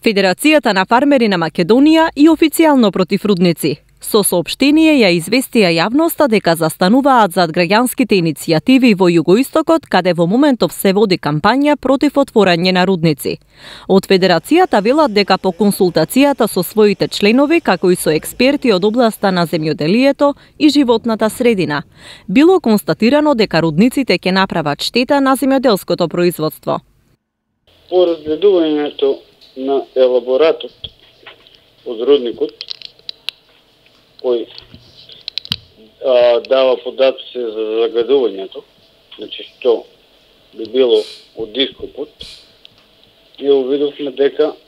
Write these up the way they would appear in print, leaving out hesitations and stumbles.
Федерацијата на фармери на Македонија и официјално против рудници. Со соопштение ја известија јавноста дека застануваат зад граѓанските иницијативи во југоистокот, каде во моментов се води кампања против отворање на рудници. Од Федерацијата велат дека по консултацијата со своите членови, како и со експерти од областа на земјоделието и животната средина, било констатирано дека рудниците ќе направат штета на земјоделското производство. По разгледувањето на елаборатот од рудникот, кој дава податоци за загадувањето, значи што би било од ископот, и увидовме дека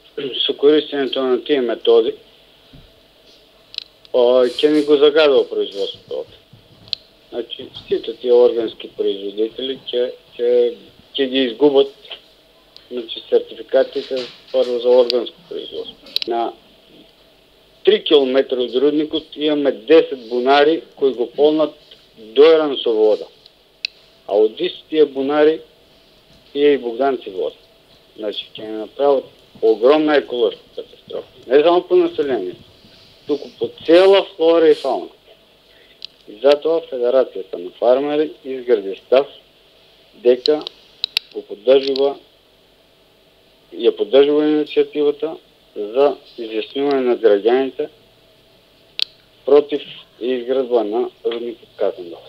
со користењето на тие методи ќе ни го загадува производството. Значи сите тие органски производители ќе ги изгубат, значи сертификатите прво за органско производство. На 3 км од рудникот имаме 10 бунари кои го полнат дојран со вода. А од тие бунари пие и Богданци вода. Значи ќе не направат огромна еколошка катастрофа. Не само по населението, туку по цела флора и фауна. И затоа Федерацијата на фармери изгради став дека ја поддржува иницијативата за изјаснување на граѓаните против изградба на рудникот Казандол.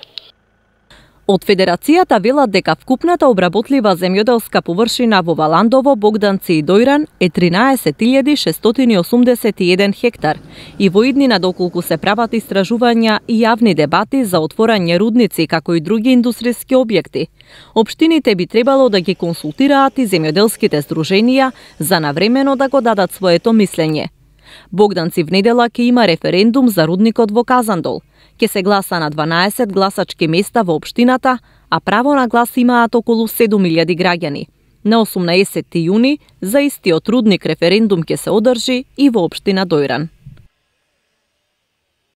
Од Федерацијата велат дека вкупната обработлива земјоделска површина во Валандово, Богданци и Дојран е 13.681 хектар и во иднина доколку се прават истражувања и јавни дебати за отворање рудници како и други индустријски објекти, општините би требало да ги консултираат и земјоделските здруженија за навремено да го дадат своето мислење. Богданци внедела ќе има референдум за рудникот во Казандол. Ќе се гласа на 12 гласачки места во општината, а право на глас имаат околу 7.000 граѓани. На 18 јуни за истиот рудник референдум ќе се одржи и во општина Дојран.